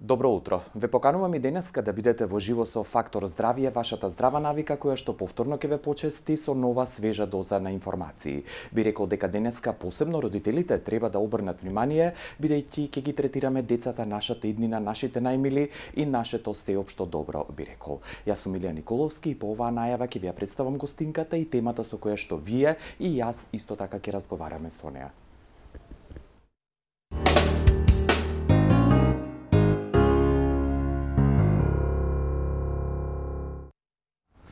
Добро утро. Ве поканувам и денеска да бидете во живо со Фактор здравје, вашата здрава навика која што повторно ќе ве почести со нова свежа доза на информации. Би рекол дека денеска посебно родителите треба да обрнат внимание, бидејќи ќе ги третираме децата нашата иднина, нашите најмили и нашето сеопшто добро, би рекол. Јас сум Илија Николовски и по оваа најава ќе ви ја представам гостинката и темата со која што вие и јас исто така ќе разговараме со неа.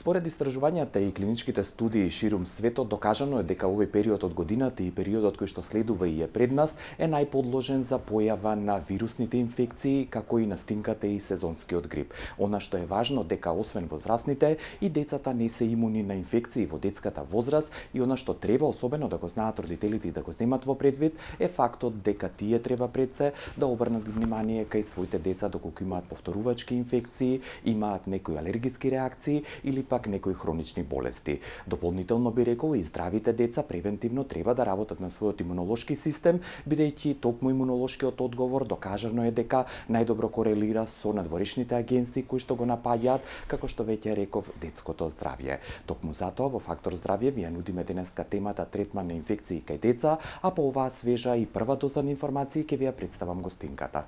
Според истражувањата и клиничките студии ширум светот, докажано е дека овој период од годината и периодот кој што следува и е пред нас е најподложен за појава на вирусните инфекции, како и настинката и сезонскиот грип. Она што е важно дека освен возрастните и децата не се имуни на инфекции во детската возраст и она што треба особено да го знаат родителите и да го земат во предвид е фактот дека тие треба пред се да обрнат внимание кај своите деца доколку имаат повторувачки инфекции, имаат некои алергиски реакции или пак некои хронични болести. Дополнително би рекол и здравите деца превентивно треба да работат на својот имунолошки систем, бидејќи токму имунолошкиот одговор докажано е дека најдобро корелира со надворешните агенции кои што го напаѓаат, како што веќе реков, детското здравје. Токму затоа во Фактор здравје ви ја нудиме денеска темата третман на инфекции кај деца, а по оваа свежа и прва доза на информации ќе ви ја представам гостинката.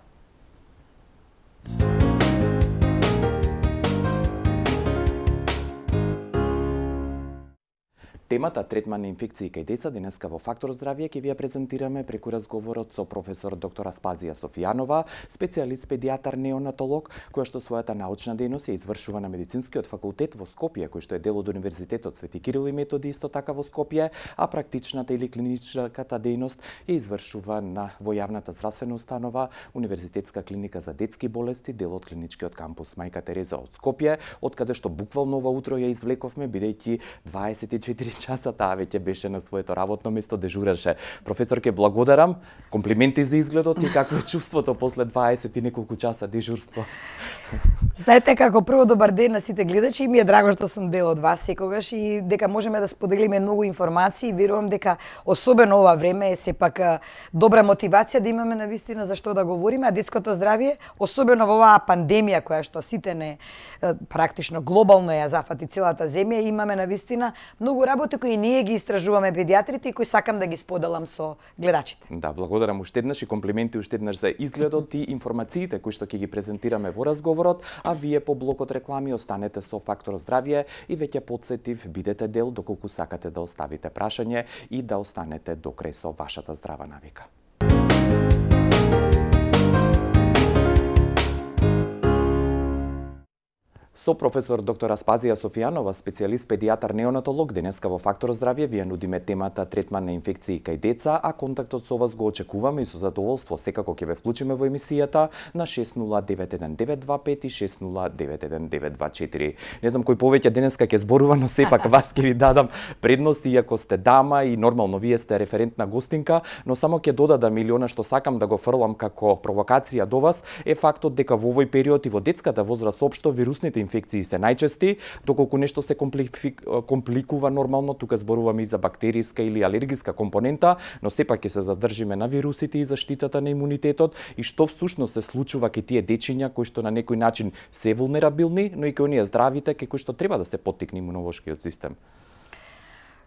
Темата третман на инфекции кај деца денеска во Фактор здравје ќе ви ја презентираме преку разговорот со професор доктор Аспазија Софијанова, специјалист педијатар неонатолог, која што својата научна дејност ја извршува на медицинскиот факултет во Скопје, кој што е дел од Универзитетот Свети Кирил и Методи исто така во Скопје, а практичната или клиничката дејност ја извршува во јавната здравствена установа Универзитетска клиника за детски болести, дел од клиничкиот кампус Мајка Тереза од Скопје, од каде што буквално ова утро ја извлековме, бидејќи 24 часа таа веќе беше на своето работно место, дежураше. Професорке, благодарам. Комплименти за изгледот и какво е чувството после 20 и неколку часа дежурство. Знаете како, прво добар ден на сите гледачи и ми е драго што сум дел од вас секогаш и дека можеме да споделиме многу информации. Верувам дека особено ова време е сепак добра мотивација да имаме навистина за што да говориме, а детското здравје, особено во оваа пандемија која што сите не практично глобално ја зафати целата земја, имаме навистина многу работи кои ние ги истражуваме педијатрите и кои сакам да ги споделам со гледачите. Да, благодарам уште еднаш и комплименти уште еднаш за изгледот и информациите кои што ќе ги презентираме во разговорот, а вие по блокот реклами останете со Фактор здравје и веќе потсетив, бидете дел доколку сакате да оставите прашање и да останете до крај со вашата здрава навика. Со професор доктор Аспазија Софијанова, специјалист педијатар неонатолог, денеска во Фактор здравје ви ја нудиме темата третман на инфекции кај деца, а контактот со вас го очекуваме и со задоволство секако ќе ве вклучиме во емисијата на 60919225 и 60919224. Не знам кој повеќе денеска ќе зборува, но сепак вас ќе ви дадам предност иако сте дама и нормално вие сте референтна гостинка, но само ќе додадам или она што сакам да го фрлам како провокација до вас е фактот дека во овој период и во детската возраст општо вирусните инфекции се најчести, доколку нешто се компликува нормално, тука зборуваме и за бактериска или алергиска компонента, но сепак ќе се задржиме на вирусите и заштитата на имунитетот и што всушност се случува кај тие дечиња кои што на некој начин се вулнерабилни, но и кај оние здравите кај кои што треба да се поттикне имунолошкиот систем.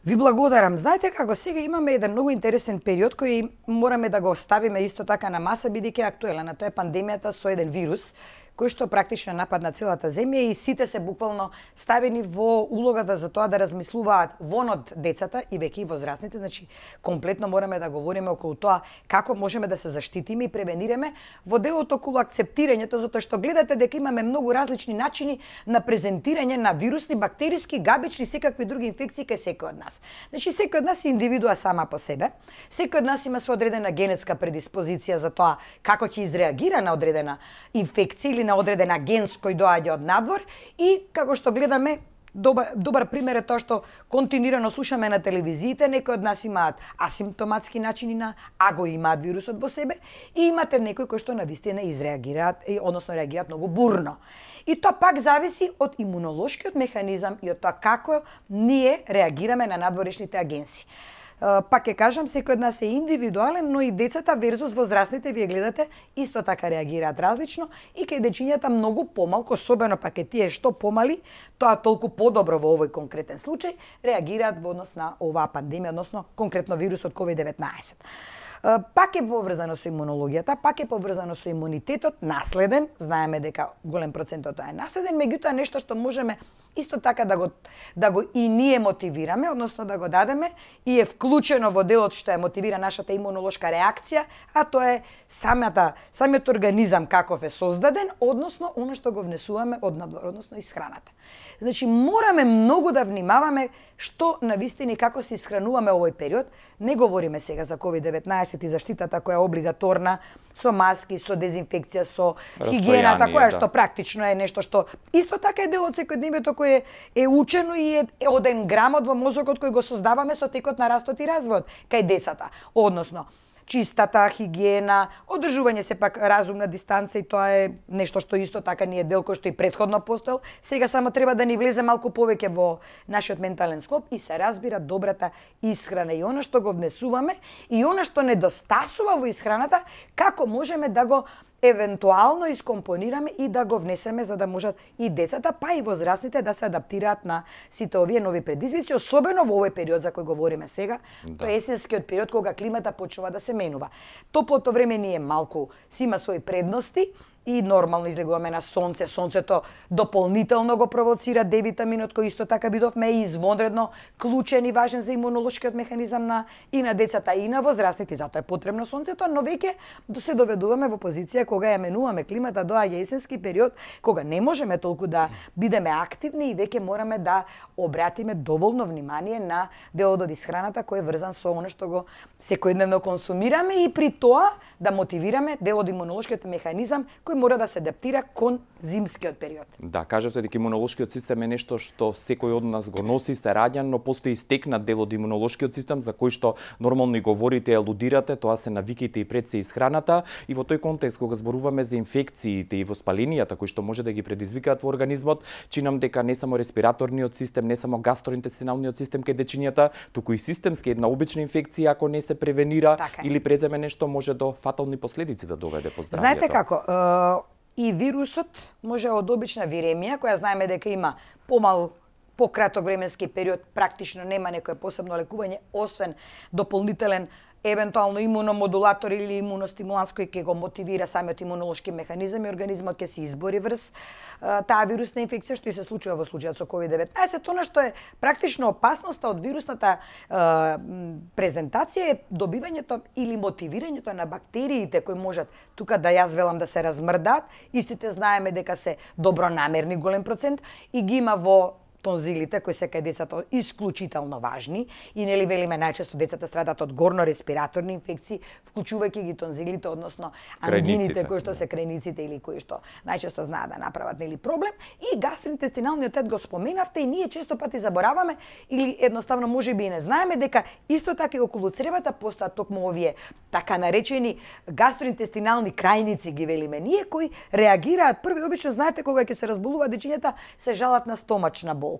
Ви благодарам. Знаете како, сега имаме еден многу интересен период кој мораме да го оставиме исто така на маса, бидејќи е актуелен, а тоа е пандемијата со еден вирус кој што практично нападна целата земја и сите се буквално ставени во улогата за тоа да размислуваат вон од децата и веќе и возрастните, значи комплетно мораме да говориме околу тоа како можеме да се заштитиме и превенираме во делот околу акцептирањето, затоа што гледате дека имаме многу различни начини на презентирање на вирусни, бактериски, габични, секакви други инфекции кај секој од нас. Значи секој од нас е индивидуа сама по себе, секој од нас има со одредена генетска предиспозиција за тоа како ќе изреагира на одредена инфекција или на одреден агенс кој доаѓа од надвор и како што гледаме добар пример е тоа што континуирано слушаме на телевизиите, некои од нас имаат асимптоматски начини а го имаат вирусот во себе и имате некои кои што навистина изреагираат, односно реагираат многу бурно. И тоа пак зависи од имунолошкиот механизам и од тоа како ние реагираме на надворешните агенси. Пак ќе кажам, секој од нас е индивидуален, но и децата верзус возрастните, вие гледате, исто така реагираат различно и кај дечињата многу помалку, особено пак е тие што помали, тоа толку подобро во овој конкретен случај, реагираат во однос на оваа пандемија, односно конкретно вирусот COVID-19. Пак е поврзано со имунологијата, пак е поврзано со имунитетот, наследен, знаеме дека голем процент од тоа е наследен, меѓутоа нешто што можеме исто така да го и ние мотивираме, односно да го дадеме и е вклучено во делот што ја мотивира нашата имунолошка реакција, а тоа е самиот организам каков е создаден, односно оно што го внесуваме од надвор, односно исхраната. Значи мораме многу да внимаваме што навистини како се исхрануваме овој период. Не говориме сега за COVID-19 и заштитата која е облигаторна со маски, со дезинфекција, со хигиената која што практично е нешто што исто така е дел од секојдневието кој е учено и е оден грамот во мозокот кој го создаваме со текот на растот и развојот кај децата. Односно, чистата хигиена, одржување сепак разумна дистанца и тоа е нешто што исто така не е дел кој што и претходно постоел. Сега само треба да ни влезе малку повеќе во нашиот ментален склоп и се разбира добрата исхрана и она што го внесуваме и она што недостасува во исхраната, како можеме да го евентуално искомпонираме и да го внесеме за да можат и децата, па и возрастните да се адаптираат на сите овие нови предизвици, особено во овој период за кој говориме сега, тоа е есенскиот период кога климата почнува да се менува. Топлото време ни е малку, си има своји предности, и нормално излегуваме на сонце. Сонцето дополнително го провоцира D-витаминот кој исто така видовме е извонредно клучен и важен за имунолошкиот механизам и на децата и на возрастните, затоа е потребно сонцето, но веќе се доведуваме во позиција кога ја менуваме климата, доаѓа есенски период кога не можеме толку да бидеме активни и веќе мораме да обратиме доволно внимание на делот од исхраната кој е врзан со она што го секојдневно консумираме и при тоа да мотивираме делот од имунолошкиот механизам кој мора да се адаптира кон зимскиот период. Да, кажавте дека имунолошкиот систем е нешто што секој од нас го носи, се раѓа, но постои стекнат дел од имунолошкиот систем за кој што нормално и говорите, алудирате, тоа се навиките и пред се исхраната и во тој контекст кога зборуваме за инфекциите и воспаленијата кои што може да ги предизвикаат во организмот, чинам дека не само респираторниот систем, не само гастроинтестиналниот систем кај дечињата, туку и системски една обична инфекција ако не се превенира или преземе нешто може до фатални последици да доведе по здравјето. Знаете како, и вирусот може од обична виремија, која знаеме дека има пократок временски период, практично нема некое посебно лекување, освен дополнителен евентуално имуномодулатор или имуностимуланс кој ќе го мотивира самиот имунолошки механизам и организмот ќе се избори врз таа вирусна инфекција, што и се случува во случајот со COVID-19. Она што е практично опасноста од вирусната презентација е добивањето или мотивирањето на бактериите кои можат тука да јас велам да се размрдаат. Истите знаеме дека се добронамерни голем процент и ги има во тонзилите кои се кај децата исклучително важни и нели велиме најчесто децата страдат од горно-респираторни инфекции, вклучувајќи ги тонзилите, односно ангините кои што се крајниците или кои што најчесто знаат да направат нели проблем и гастроинтестиналниот тет го споменавте и ние често пати забораваме или едноставно можеби и не знаеме дека исто така и околу цревата постојат токму овие така наречени гастроинтестинални крајници ги велиме ние кои реагираат први обично знаете кога ќе се разболуваат дечињата се жалат на стомачна болка.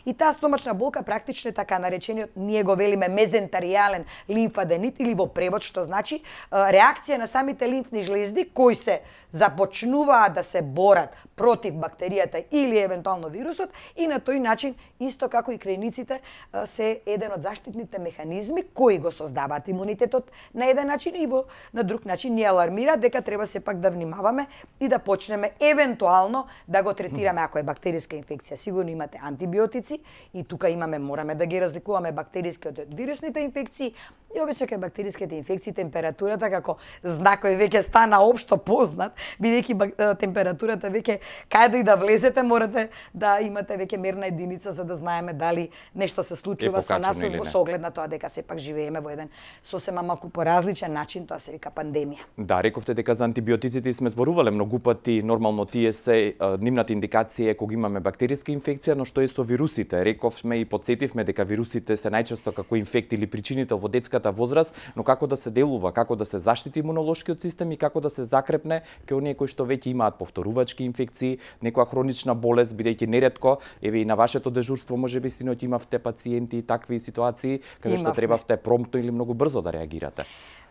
И таа стомачна болка практично е така наречениот, ние го велиме мезентаријален лимфаденит или во превод што значи реакција на самите лимфни жлезди кои се започнуваат да се борат против бактеријата или евентуално вирусот и на тој начин исто како и крајниците се еден од заштитните механизми кои го создаваат имунитетот на еден начин и на друг начин ни алармираат дека треба сепак да внимаваме и да почнеме евентуално да го третираме ако е бактериска инфекција. Сигурно имате антибиотици и тука мораме да ги разликуваме бактериските од вирусните инфекции и обично кај бактериските инфекции температурата како знак кој веќе стана општо познат, бидејќи температурата веќе каде и да влезете морате да имате веќе мерна единица за да знаеме дали нешто се случува со нас со оглед на тоа дека сепак живееме во еден сосема малку поразличен начин, тоа се вика пандемија. Да, рековте дека за антибиотиците сме зборувале многу пати, нормално тие се нивната индикација е кога имаме бактериска инфекција, но што е со вирусите. Рековме и потсетивме дека вирусите се најчесто како инфект или причинител во детската возраст, но како да се делува, како да се заштити имунолошкиот систем и како да се закрепне кај оние кои што веќе имаат повторувачки инфекции, некоја хронична болест, бидејќи неретко, еве и на вашето дежурство можеби синоќ имавте пациенти и такви ситуации каде што требавте промптно или многу брзо да реагирате.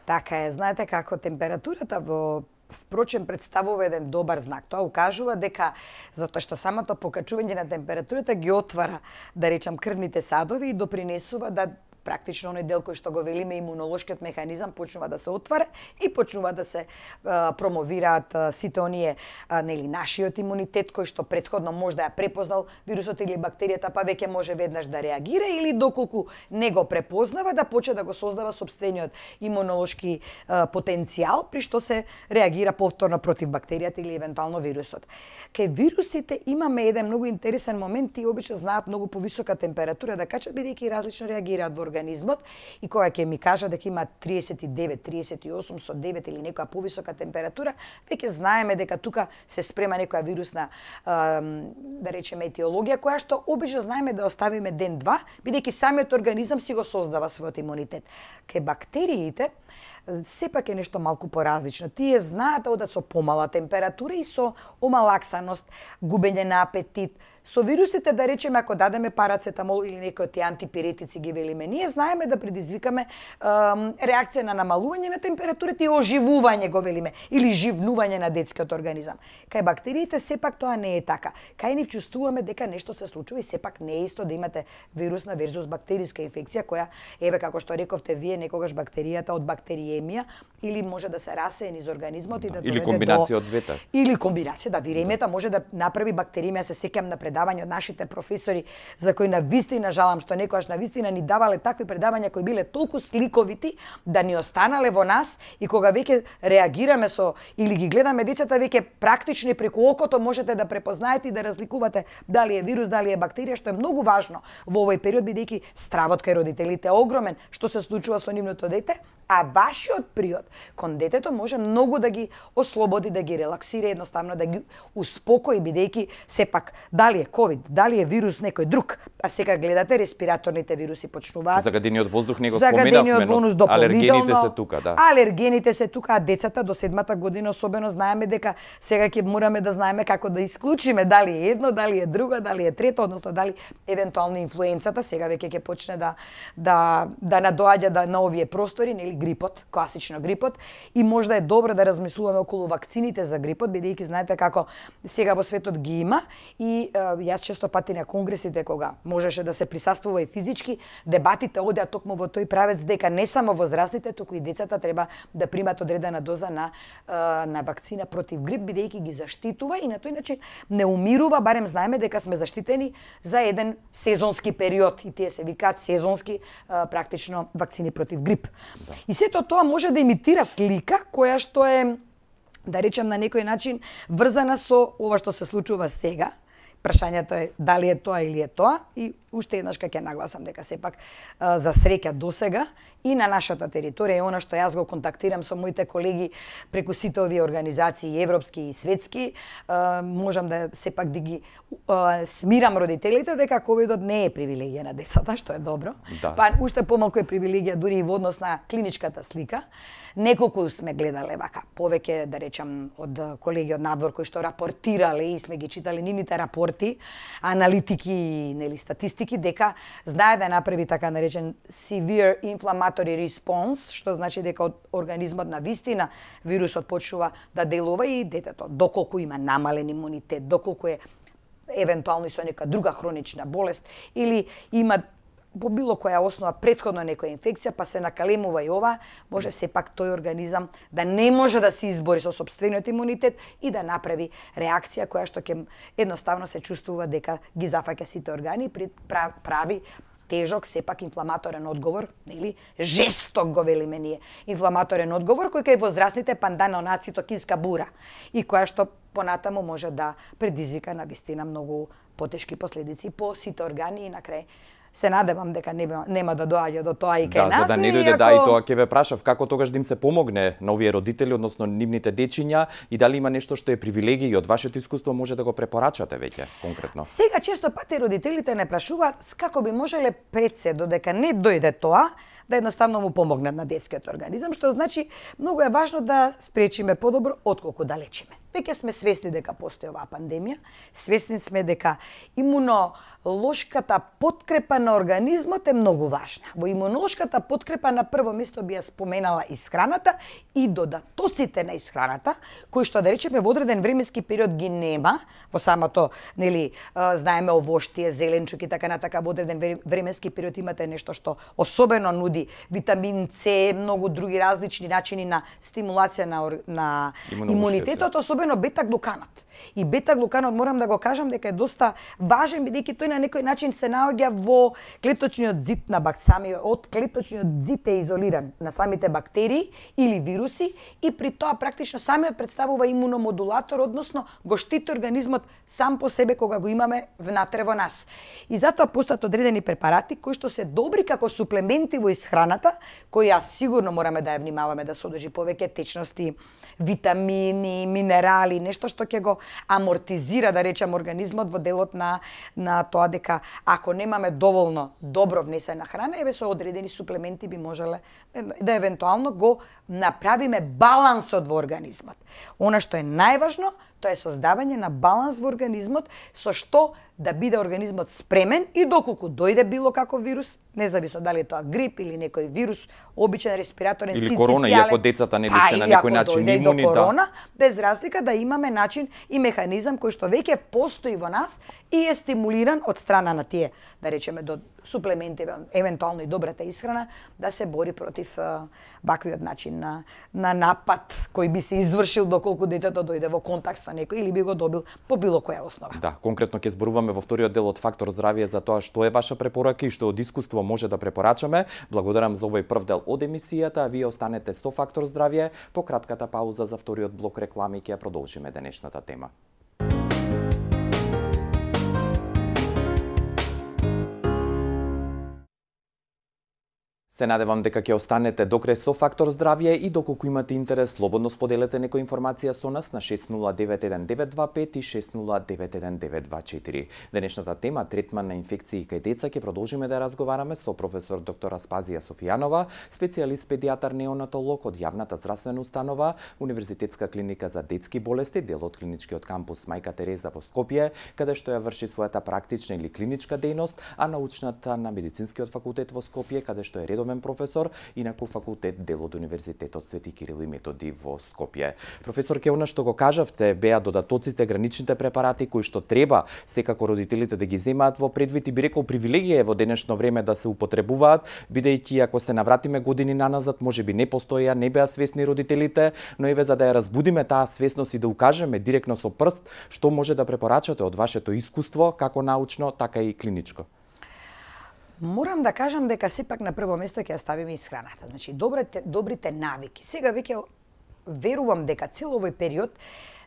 Така е, знаете како температурата впрочем представува еден добар знак. Тоа укажува дека затоа што самото покачување на температурата ги отвара, да речам, крвните садови и допринесува да практично оној дел кој што го велиме имунолошкиот механизам почнува да се отвара и почнува да се промовираат сите оние нашиот имунитет кој што претходно може да ја препознал вирусот или бактеријата, па веќе може веднаш да реагира или доколку не го препознава да почне да го создава сопствениот имунолошки потенцијал при што се реагира повторно против бактеријата или евентуално вирусот. Кај вирусите имаме еден многу интересен момент, тие обично знаат многу повисока температура да качат бидејќи различно реагираат во организмот и кога ќе ми кажа дека има 39, 38 со 9 или некоја повисока температура, веќе знаеме дека тука се спрема некоја вирусна да речеме етиологија која што обично знаеме да оставиме ден-два, бидејќи самиот организам си го создава својот имунитет. Кај бактериите сепак е нешто малку поразлично. Тие знаат да одат со помала температура и со омалаксаност, губење на апетит. Со вирусите, да речеме, ако дадеме парацетамол или некои од тие антипиретици ги велиме, ние знаеме да предизвикаме реакција на намалување на температурата и оживување го велиме, или живнување на детскиот организам. Кај бактериите сепак тоа не е така. Кај нив чувствуваме дека нешто се случува и сепак не е исто да имате вирусна верзус бактериска инфекција која, еве како што рековте вие, некогаш бактеријата од бактериемија или може да се расее низ организмот и да доведе или комбинација од двете. Или комбинација, да, виремијата може да направи бактериемија, се сеќам на предавање од нашите професори за кои навистина жалам што некогаш навистина ни давале такви предавања кои биле толку сликовити да ни останале во нас и кога веќе реагираме со или ги гледаме децата веќе практично и преку окото можете да препознаете и да разликувате дали е вирус, дали е бактерија, што е многу важно во овој период бидејќи стравот кај родителите е огромен што се случува со нивното дете, а вашиот приод кон детето може многу да ги ослободи, да ги релаксира, едноставно да ги успокои, бидејќи сепак дали е ковид, дали е вирус некој друг, а сега гледате респираторните вируси почнуваат. Загадениот воздух не го споменавме, но алергените се тука, да. Алергените се тука, а децата до 7-та година особено знаеме дека сега ќе мораме да знаеме како да исклучиме дали е едно, дали е друго, дали е трето, односно дали евентуално инфлуенцата сега веќе ќе почне да надоаѓа на овие простори, нели грипот, класично грипот, и можда е добро да размислуваме околу вакцините за грипот, бидејќи знаете како сега во светот ги има и јас често пати на конгресите кога можеше да се присуствува и физички, дебатите одеа токму во тој правец дека не само возрастните, туку и децата треба да примат одредена доза на вакцина против грип, бидејќи ги заштитува и на тој начин не умирува, барем знаеме дека сме заштитени за еден сезонски период и тие се викаат сезонски практично вакцини против грип. Да. И сето тоа може да имитира слика која што е, да речем на некој начин, врзана со ова што се случува сега. Прашањето е дали е тоа или е тоа и уште еднаш ќе нагласам дека сепак за среќа досега и на нашата територија, она што јас го контактирам со моите колеги преку сите овие организации европски и светски, можам да сепак да ги смирам родителите дека ковидот не е привилегија на децата, што е добро. Да. Па уште помалку е привилегија дури и во однос на клиничката слика. Неколку сме гледале вака, повеќе да речам од колеги од надвор кои што рапортирале и сме ги читали нивните рапорти, аналитики, нели статистики дека знае да направи така наречен severe inflammatory response, што значи дека од организмот на вистина вирусот почнува да делува и детето доколку има намален имунитет, доколку е евентуално и со нека друга хронична болест или има по било која основа претходно некоја инфекција, па се накалемува и ова, може сепак тој организам да не може да се избори со сопствениот имунитет и да направи реакција која што ќе едноставно се чувствува дека ги зафаќа сите органи и прави тежок, сепак инфламаторен одговор, нели? Жесток го велиме ние. Инфламаторен одговор кој кај возрастните пандана онаа цитокинска бура и која што понатаму може да предизвика на вистина многу потешки последици по сите органи и на крај се надевам дека нема да доаѓа до тоа и кај нас. За да не дојде и тоа ќе ве прашав како тогаш да им се помогне на овие родители, односно нивните дечиња, и дали има нешто што е привилегија и од вашето искуство може да го препорачате веќе конкретно. Сега често пати родителите не прашуваат како би можеле пред се додека не дојде тоа, да едноставно му помогнат на детскиот организам, што значи многу е важно да спречиме подобро отколку да лечиме. Веќе сме свесни дека постои оваа пандемија, свесни сме дека имунолошката подкрепа на организмот е многу важна. Во имунолошката подкрепа на прво место би ја споменала исхраната и додатоците на исхраната, кои што да речеме во одреден временски период ги нема во самото, знаеме овоштие, зеленчук и така натака, во одреден временски период имате нешто што особено нуди витамин С, многу други различни начини на стимулација на имунитетот, особено бета-глуканот. И бета-глуканот морам да го кажам дека е доста важен, бидејќи тој на некој начин се наоѓа во клеточниот зид на од клеточниот зид е изолиран на самите бактерии или вируси и при тоа практично самиот представува имуномодулатор, односно го штити организмот сам по себе кога го имаме внатре во нас. И затоа постојат одредени препарати кои што се добри како суплементи во исхраната, кои сигурно мораме да ја внимаваме да содржи повеќе течности, витамини, минерали, нешто што ќе го амортизира, да речем, организмот во делот на тоа дека ако немаме доволно добро внесена храна, со одредени суплементи би можеле да евентуално го направиме балансот во организмот. Она што е најважно, тоа е создавање на баланс во организмот, со што да биде организмот спремен и доколку дојде било каков вирус, независно дали е тоа грип или некој вирус, обичен респираторен или корона, иако децата не сте на некој начин имуни, до корона, без разлика да имаме начин и механизам кој што веќе постои во нас и е стимулиран од страна на тие, да речеме, до суплементи, евентуално и добрата исхрана, да се бори против ваквиот начин на напад кој би се извршил доколку детето дојде во контакт со некој или би го добил по било која основа. Да, конкретно ќе зборуваме во вториот дел од Фактор здравје за тоа што е ваша препорака и што од искуство може да препорачаме. Благодарам за овој прв дел од емисијата, а вие останете со Фактор здравје. По кратката пауза за вториот блок реклами ќе ја продолжиме денешната тема. Се надевам дека ќе останете до крај со Фактор здравје и доколку имате интерес, слободно споделете некоја информација со нас на 6091-925 и 6091-924. Денешната тема третман на инфекции кај деца ќе продолжиме да разговараме со професор доктор Аспазија Софијанова, специјалист педијатар неонатолог од јавната здравствена установа Универзитетска клиника за детски болести, дел од клиничкиот кампус Мајка Тереза во Скопје, каде што ја врши својата практична или клиничка дејност, а научната на медицинскиот факултет во Скопје, каде што е редовен професор, инаку факултет дел од Универзитетот Свети Кирил и Методи во Скопје. Професор, ке она што го кажавте беа додатоците, граничните препарати кои што треба секако родителите да ги земаат во предвид и би рекол привилегија во денешно време да се употребуваат, бидејќи ако се навратиме години наназад, можеби не постоја, не беа свесни родителите, но еве за да ја разбудиме таа свесност и да укажеме директно со прст што може да препорачате од вашето искуство, како научно, така и клиничко. Морам да кажам дека сепак на прво место ќе ја ставиме исхраната. Значи, добрите навики. Сега веќе верувам дека цел овој период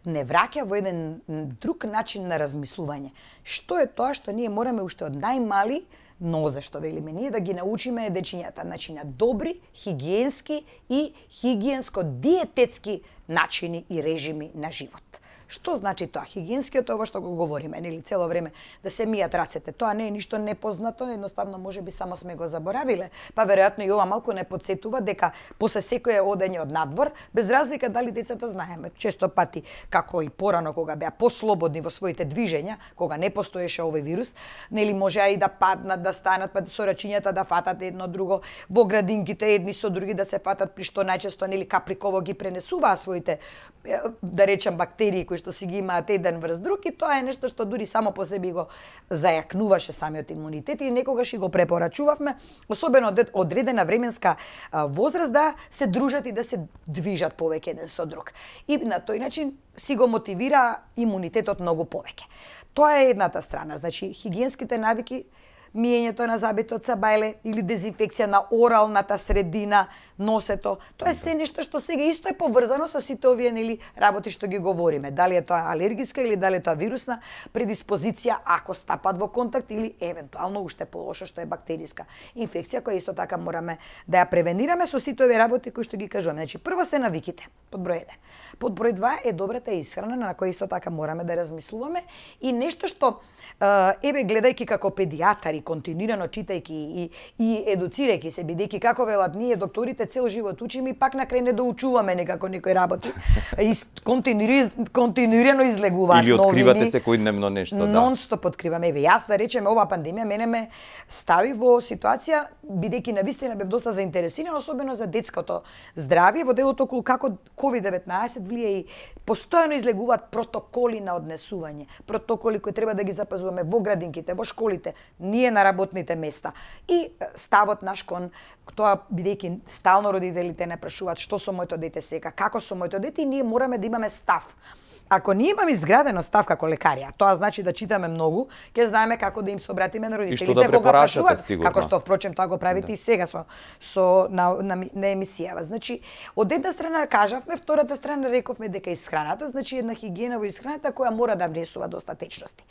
не враќа во еден друг начин на размислување. Што е тоа што ние мораме уште од најмали нозе, што велиме ние, да ги научиме дечињата, значи на добри, хигиенски и хигиенско-диететски начини и режими на живот. Што значи тоа? Хигиенскиот, ова што го говориме, нели цело време да се мијат рацете. Тоа не е ништо непознато, едноставно можеби само сме го заборавиле. Па веројатно и ова малку не потсетува дека после секое одење од надвор, без разлика дали децата знаеме, често пати како и порано кога беа послободни во своите движења, кога не постоеше овој вирус, нели можеа и да паднат, да станат, па со рачињата да фатат едно друго, во градинките едни со други да се фатат, при што најчесто нели каприково ги пренесуваа своите, да речем, бактерии кои што си ги имаат еден врз друг, и тоа е нешто што дури само по себе го зајакнуваше самиот имунитет и некогаш и го препорачувавме, особено од одредена временска возраст, да се дружат и да се движат повеќе еден со друг. И на тој начин си го мотивира имунитетот многу повеќе. Тоа е едната страна, значи хигиенските навики миењето на зъбите од сабајле или дезинфекција на оралната средина, носето. Тоа е се нешто што сега исто е поврзано со сите овие работи што ги говориме. Дали е тоа алергиска или дали е тоа вирусна предиспозиција ако стапат во контакт или евентуално уште полошо што е бактериска инфекција која исто така мораме да ја превенираме со сите овие работи кои што ги кажуваме. Значи прво се навиките, под број 1. Под број 2 е добрата исхрана на која исто така мораме да размислуваме и нешто што гледајќи како педијатари, континуирано читајќи и едуцирајќи се, бидејќи како велат ние докторите цел живот учиме и пак на крај не доучуваме некако некои работи. Континуирано излегуваат новини. Или откривате секојдневно нешто, да. Нон-стоп откриваме. Јас да речеме оваа пандемија мене ме стави во ситуација бидејќи навистина бев доста заинтересиран, особено за детското здравје во делот околу како COVID-19 влие и постојано излегуваат протоколи на однесување, протоколи кои треба да ги запазуваме во градинките, во школите, ние на работните места. И ставот наш кон тоа, бидејќи стално родителите не прашуваат што со моето дете сека, како со моето дете, и ние мораме да имаме став. Ако ние имаме изградено став како лекари, тоа значи да читаме многу, ќе знаеме како да им се обратиме на родителите да кога прашуваат, сигурно. како што впрочем тоа го правите и сега на емисијава. Значи, од една страна кажавме, втората страна рековме дека исхраната, значи една хигиена во исхраната која мора да внесува доста течности.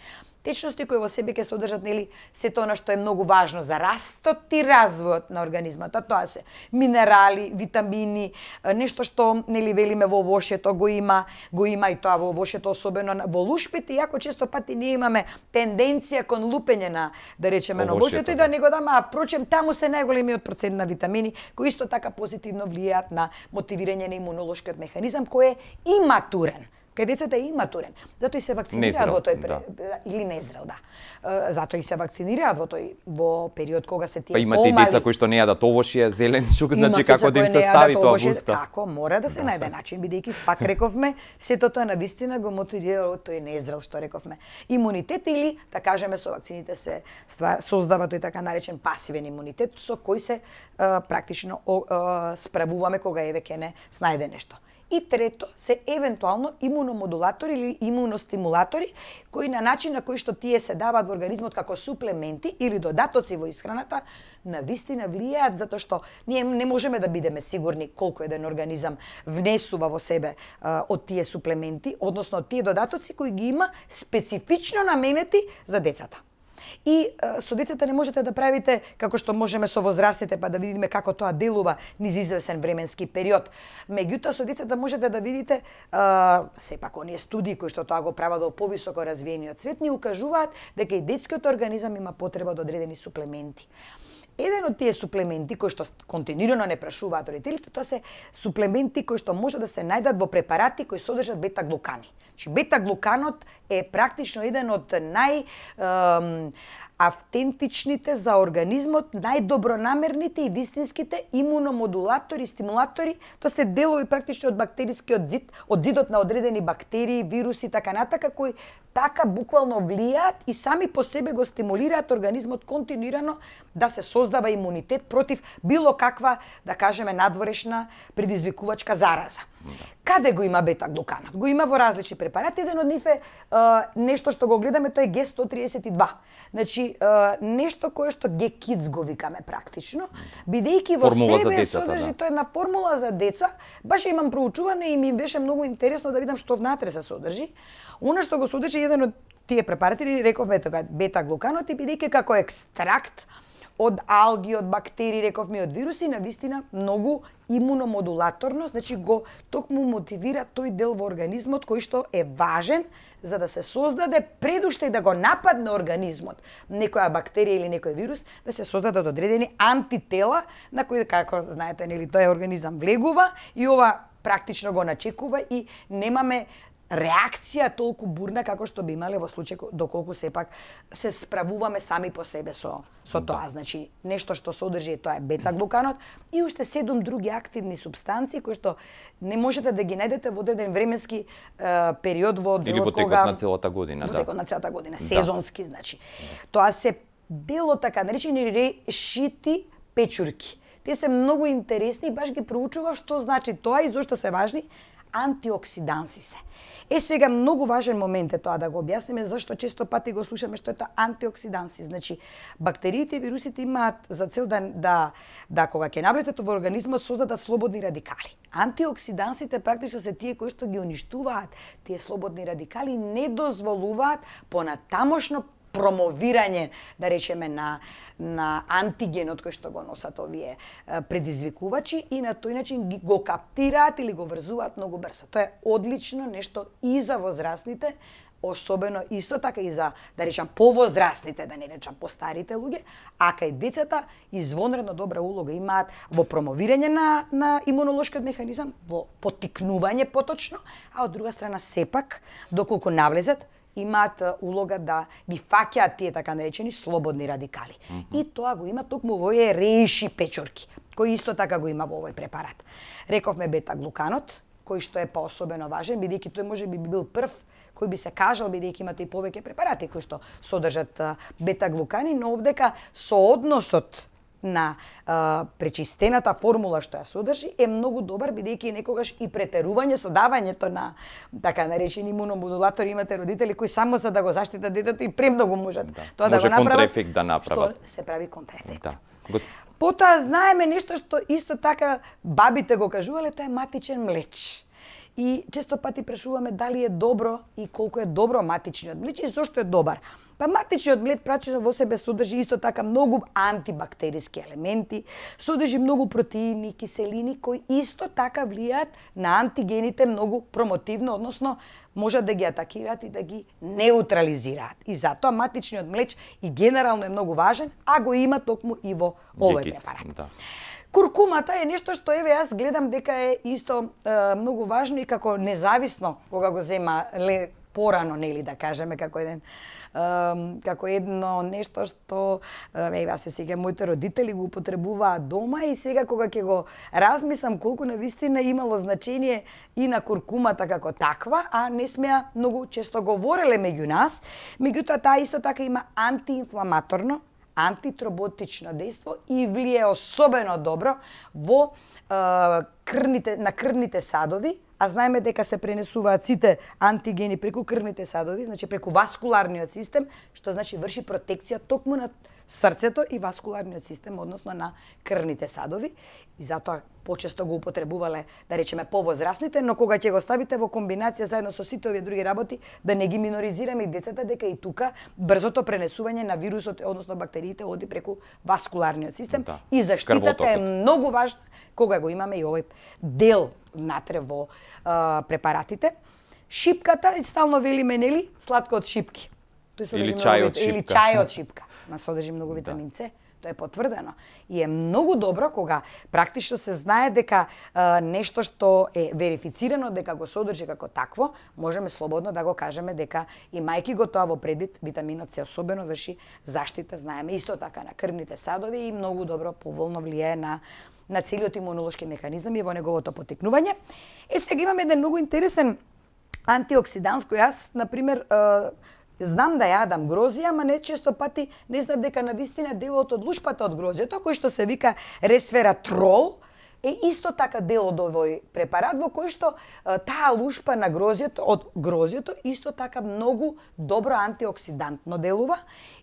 Течности кои во себе ќе содржат сето она што е многу важно за растот и развојот на организмот. Тоа се минерали, витамини, нешто што велиме во овошјето го има и тоа во овошјето, особено во лушпите, иако често пати ние имаме тенденција кон лупење на, да речеме, на овошјето и да не го даме, а прочем таму се најголемиот процент на витамини кои исто така позитивно влијаат на мотивирање на имунолошкиот механизам кој е иматурен. Кај децата е иматурен. Затоа и се вакцинираат во тој или незрел, да. Затоа и се вакцинираат во период кога се тие помали. Па имате деца кои што не јадат овошје, зеленчук, значи како да им се стави тоа во уста. Како мора да се најде начин, бидејќи пак рековме, сето тоа навистина го мотивира тој незрел што рековме. Имунитет или да кажеме со вакцините се создава тој така наречен пасивен имунитет со кој се практично справуваме кога ќе не снајде нешто. И трето се евентуално имуномодулатори или имуностимулатори кои на начин на кој што тие се даваат во организмот како суплементи или додатоци во исхраната навистина влијаат затоа што ние не можеме да бидеме сигурни колку еден организам внесува во себе од тие суплементи, односно тие додатоци кои ги има специфично наменети за децата. И со децата не можете да правите како што можеме со возрастните, па да видиме како тоа делува низ извесен временски период. Меѓутоа со децата можете да видите сепак оние студии кои што тоа го прават во повисоко развиениот свет ни укажуваат дека и детскиот организам има потреба од одредени суплементи. Еден од тие суплементи кои што континуирано не прашуваат родителите, тоа се суплементи кои што може да се најдат во препарати кои содржат бета-глукани. Значи бета-глуканот е практично еден од автентичните за организмот, најдобронамерните и вистинските имуномодулатори, стимулатори, тоа се делови практично од бактерискиот зид, од зидот на одредени бактерии, вируси, така натака, кои така буквално влијаат и сами по себе го стимулираат организмот континуирано да се создава имунитет против било каква, да кажеме, надворешна предизвикувачка зараза. Каде го има бета-глуканот? Го има во различни препарати, еден од нив е нешто што го гледаме, тоа е Г132. Значи, нешто кое што Г-Kids го викаме практично, бидејќи во себе содржи, тоа е една формула за деца. Баш имам проучуване и ми беше многу интересно да видам што внатре се содржи. Она што го содржи еден од тие препарати, рековме тоа бета-глуканот, и бидејќи како екстракт од алги, од бактерии, рековме, од вируси, навистина многу имуномодулаторно, значи го токму мотивира тој дел во организмот кој што е важен за да се создаде пред уште и да го нападне организмот некоја бактерија или некој вирус, да се создадат одредени антитела на кои, како знаете, нели, тој организам влегува и ова практично го начекува и немаме реакција толку бурна како што би имале во случај доколку сепак се справуваме сами по себе со тоа. Значи, нешто што содржи тоа е бета-глуканот и уште 7 други активни супстанции кои што не можете да ги најдете во одреден временски период во делот или во текот на целата година, во текот на целата година, сезонски, значи. Тоа се дело така наречени решити печурки. Те се многу интересни и баш ги проучував што значи тоа и зошто се важни. антиоксиданси се. Сега многу важен момент е тоа да го објасниме зашто често пати го слушаме што е тоа антиоксиданси. Значи, бактериите и вирусите имаат за цел да кога ќе навлетат во организмот создадат слободни радикали. Антиоксидансите практично се тие кои што ги уништуваат тие слободни радикали и не дозволуваат понатамошно промовирање, да речеме, на антигенот кој што го носат овие предизвикувачи и на тој начин го каптираат или го врзуваат многу брзо. Тоа е одлично нешто и за возрастните, особено исто така и за, да речам, повозрастните, да не речам постарите луѓе, а кај децата извонредно добра улога имаат во промовирање на имунолошкиот механизам, во поттикнување поточно, а од друга страна сепак, доколку навлезат, имаат улога да ги фаќаат тие така наречени слободни радикали. И тоа го има токму во овие реиши печорки, кои исто така го има во овој препарат. Рековме бета-глуканот, кој што е поособено важен, бидејќи тој може би бил прв кој би се кажал, бидејќи имате и повеќе препарати кои што содржат бета-глукани, но овдека соодносот на пречистената формула што ја содржи е многу добар, бидејќи некогаш и претерување со давањето на така наречени имуномодулатори. Имате родители кои само за да го заштитат детето и премногу можат тоа да го направат. Може контраефект да направат. Што се прави контраефект. Да. Потоа знаеме нешто што исто така бабите го кажувале, тоа е матичен млеч. И често пати прашуваме дали е добро и колку е добро матичниот млеч и зошто е добар. Па матичниот млеч прачно во себе содржи исто така многу антибактериски елементи, содржи многу протеини, киселини кои исто така влијаат на антигените многу промотивно, односно можат да ги атакираат и да ги неутрализираат. И затоа матичниот млеч и генерално е многу важен, а го има токму и во овој препарат. Да. Куркумата е нешто што еве јас гледам дека е исто многу важно и како независно кога го зема порано, нели да кажеме, како едно нешто што јас се сеќавам моите родители го употребуваат дома и сега кога ќе го размислам колку навистина имало значение и на куркумата како таква, а не сме ја многу често говореле меѓу нас, меѓутоа таа исто така има антиинфламаторно, антитроботично дејство и влие особено добро во крвните садови, а знаеме дека се пренесуваат сите антигени преку крвните садови, значи преку васкуларниот систем, што значи врши протекција токму на срцето и васкуларниот систем, односно на крвните садови. И затоа почесто го употребувале, да речеме, повозрастните, но кога ќе го ставите во комбинација заедно со сите овие други работи, да не ги миноризираме и децата, дека и тука брзото пренесување на вирусот, односно бактериите, оди преку васкуларниот систем. Да. И заштитата е многу важна кога го имаме и овој дел внатре во препаратите. Шипката, и стално велиме, нели, сладко од шипки. Или чај од шипка. Или чај од шипка. Содржи многу витамин С. Тоа е потврдено. И е многу добро кога практично се знае дека нешто што е верифицирано дека го содржи како такво, можеме слободно да го кажеме дека имајќи го тоа во предвид, витаминот С особено врши заштита, знаеме, исто така на крвните садови и многу добро поволно влијае на целиот имунолошки механизам и во неговото поттикнување. Сега имаме еден многу интересен антиоксиданс кој јас, например, знам да јадам грозија, ама не често пати не знам дека навистина делот од лушпата од грозјето, кој што се вика ресвератрол, е исто така дел од овој препарат во кој што таа лушпа на грозјето, од грозјето, исто така многу добро антиоксидантно делува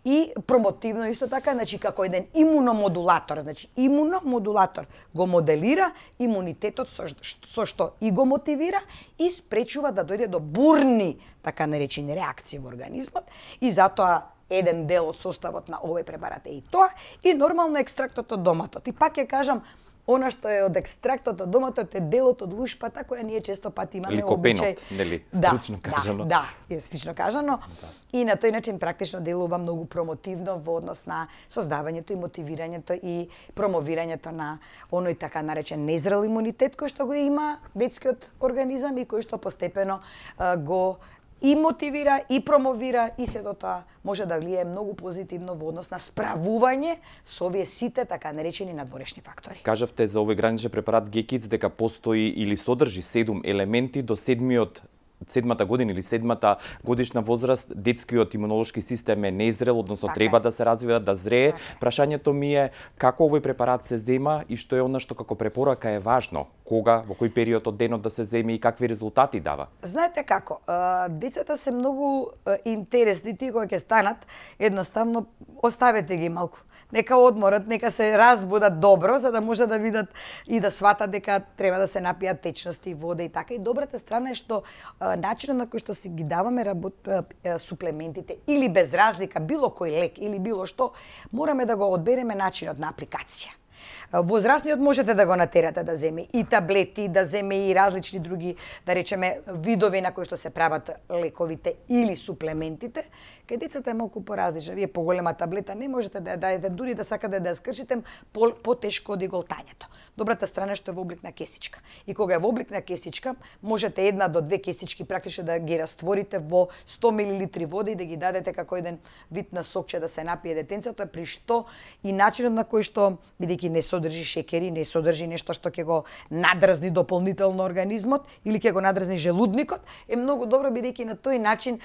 и промотивно исто така, значи како еден имуномодулатор, значи имуномодулатор го моделира имунитетот со што и го мотивира и спречува да дојде до бурни, така наречени реакции во организмот и затоа еден дел од составот на овој препарат е и тоа и нормално екстрактот од доматот. И пак ќе кажам, она што е од екстрактот од доматот е делот од лушпата која ние често пати имаме обичај. Нели, стручно кажано. Да, е стручно кажано. Да. И на тој начин практично делува многу промотивно во однос на создавањето и мотивирањето и промовирањето на оној така наречен незрел имунитет кој што го има детскиот организам и кој што постепено го и мотивира, и промовира, и сето тоа може да влијае многу позитивно во однос на справување со овие сите така наречени надворешни фактори. Кажавте за овој граничен препарат Гекиц дека постои или содржи 7 елементи, до 7-миот седмата година или седмата годишна возраст, детскиот имунолошки систем е незрел, односно треба да се развива, да зрее. Прашањето ми е како овој препарат се зема и што е она што како препорака е важно? Кога, во кој период од денот да се земе и какви резултати дава? Знаете како, децата се многу интересни, тие кога ќе станат, едноставно оставете ги малку. Нека одморат, нека се разбудат добро, за да може да видат и да сватат дека треба да се напијат течности, вода и така. И добрата страна е што начинот на кој што си ги даваме суплементите или без разлика, било кој лек или било што, мораме да го одбереме начинот на апликација. Возрастниот можете да го натерате да земе и таблети, да земе и различни други, да речеме, видови на кои што се прават лековите или суплементите. Кај децата е малку поразлично. Вие поголема таблета не можете да ја дадете, дури да сакате да ја скршите, потешко од иголтањето. Добрата страна е што е во облик на кесичка. И кога е во облик на кесичка, можете 1 до 2 кесички практично да ги растворите во 100 мл вода и да ги дадете како еден вид на сокче да се напие детенцето, при што и начинот на кој што, бидејќи не содржи шекери, не содржи нешто што ќе го надразни дополнително организмот или ќе го надразни желудникот, е многу добро бидејќи на тој начин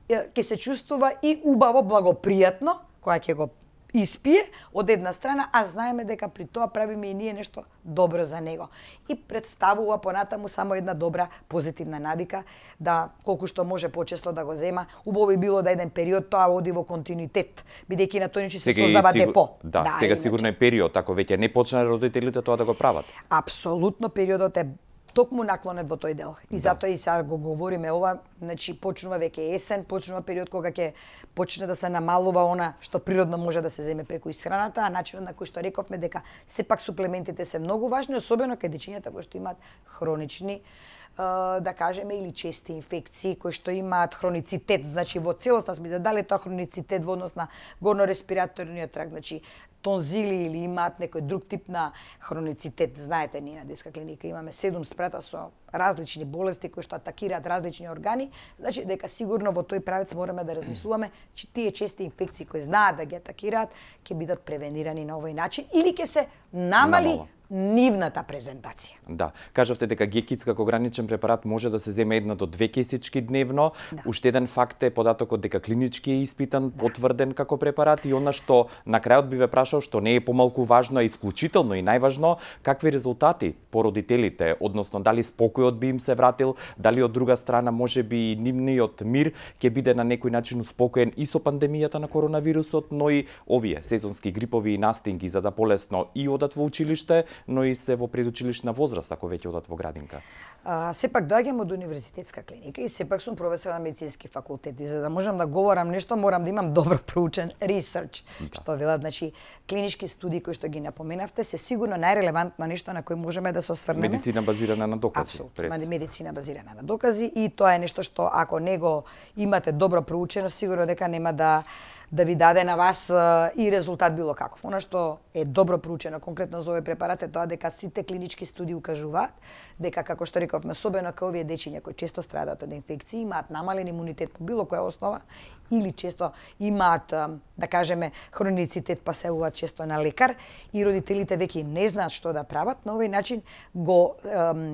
ќе се чувствува и убаво, благопријатно, кога ќе го испие од една страна, а знаеме дека при тоа правиме и ние нешто добро за него. И представува понатаму само една добра позитивна навика, да колку што може почесто да го зема. Убаво би било да еден период тоа оди во континуитет, бидејќи на тој начин се создава депо. Да, сега сигурно е период, ако веќе не почнале родителите тоа да го прават. Апсолутно периодот е токму наклонет во тој дел. И затоа и сега го говориме ова, значи почнува веќе есен, почнува период кога ќе почне да се намалува она што природно може да се земе преку исхраната, а начинот на кој што рековме дека сепак суплементите се многу важни, особено кај дечињата кои што имаат хронични да кажеме, или чести инфекции кои што имаат хроницитет, значи во целосно сме дали тоа хроницитет во однос на горно-респираторниот тракт, значи тонзили или имаат некој друг тип на хроницитет. Знаете, ние на детска клиника имаме 7 спрата со различни болести кои што атакираат различни органи, значи дека сигурно во тој правец мораме да размислуваме че тие чести инфекции кои знаат да ги атакираат ќе бидат превенирани на овој начин или ќе се намали нивната презентација. Да, кажавте дека гекиц како граничен препарат може да се земе 1 до 2 кесички дневно. Уште еден факт е податокот дека клинички е испитан, потврден како препарат и она што на крајот би ве прашал, што не е помалку важно, а исклучително и најважно, какви резултати по родителите, односно дали спокојот би им се вратил, дали од друга страна можеби и нивниот мир ќе биде на некој начин успокоен и со пандемијата на коронавирусот, но и овие сезонски грипови и настинги за да полесно и одат во училиште, но и се во предучилишна возраст, ако веќе одат во градинка. Сепак доаѓам од универзитетска клиника и сепак сум професор на медицински факултет и за да можам да говорам нешто морам да имам добро проучен ресерч, што велат, значи клинички студии кои што ги напоменавте се сигурно најрелевантно нешто на кој можеме да се осврнеме. Медицина базирана на докази. Апсолутно, медицина базирана на докази и тоа е нешто што ако него имате добро проучено, сигурно дека нема да ви даде на вас и резултат било каков. Она што е добро проучено конкретно за овој препарат е тоа дека сите клинички студии укажуваат дека, како што рековме, особено кај овие дечиња кои често страдаат од инфекции, имаат намален имунитет по било која основа или често имаат, да кажеме, хроницитет, па се јавуваат често на лекар и родителите веќе не знаат што да прават, на овој начин го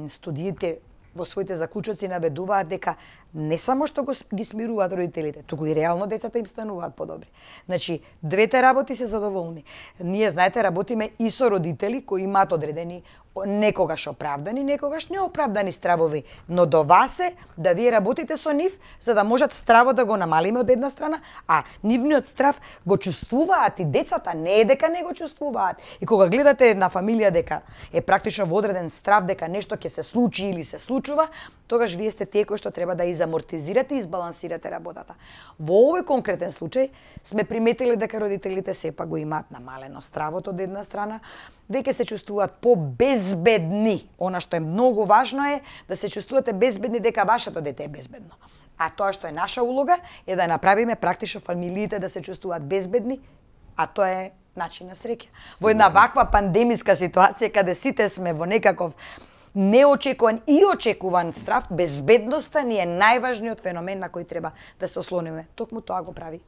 студиите во своите заклучоци наведуваат дека не само што ги смируваат родителите, туку и реално децата им стануваат подобри. Значи, двете работи се задоволни. Ние, знаете, работиме и со родители кои имаат одредени некогаш оправдани, некогаш неоправдани стравови, но до вас е да вие работите со нив за да можат стравот да го намалиме од една страна, а нивниот страв го чувствуваат и децата, не е дека не го чувствуваат. И кога гледате една фамилија дека е практично во одреден страв дека нешто ќе се случи или се случува, тогаш вие сте тие кои што треба да изамортизирате и избалансирате работата. Во овој конкретен случај сме приметили дека родителите сепак го имаат намалено стравот од една страна, веќе се чувствуваат по-безбедни. Она што е многу важно е да се чувствувате безбедни дека вашето дете е безбедно. А тоа што е наша улога е да направиме практично фамилиите да се чувствуваат безбедни, а тоа е начин на среќа. Во една ваква пандемиска ситуација каде сите сме во некаков неочекуван и очекуван страв, безбедноста ни е најважниот феномен на кој треба да се ослониме. Токму тоа го прави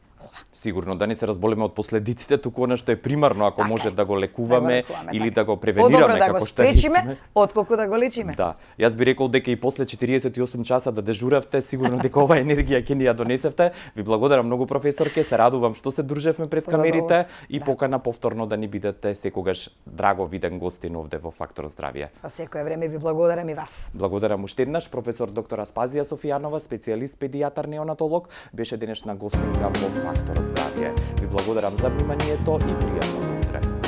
Сигурно да не се разболеме од последиците, туку она што е примарно, ако може да го лекуваме или да го Подобро превенираме да го спречиме, отколку да го лечиме. Да. Јас би рекол дека и после 48 часа да дежуравте, сигурно дека оваа енергија ќе ни ја донесевте. Ви благодарам многу, професорке, се радувам што се дружевме пред камерите и покана повторно да ни бидете секогаш драго виден гостин овде во Фактор здравје. Па секое време ви благодарам и вас. Благодарам уште еднаш, професор доктор Аспазија Софијанова, специјалист педијатар неонатолог, беше денешна гостинка во Фактор здравје. Ви благодарам за вниманието и пријатно утре.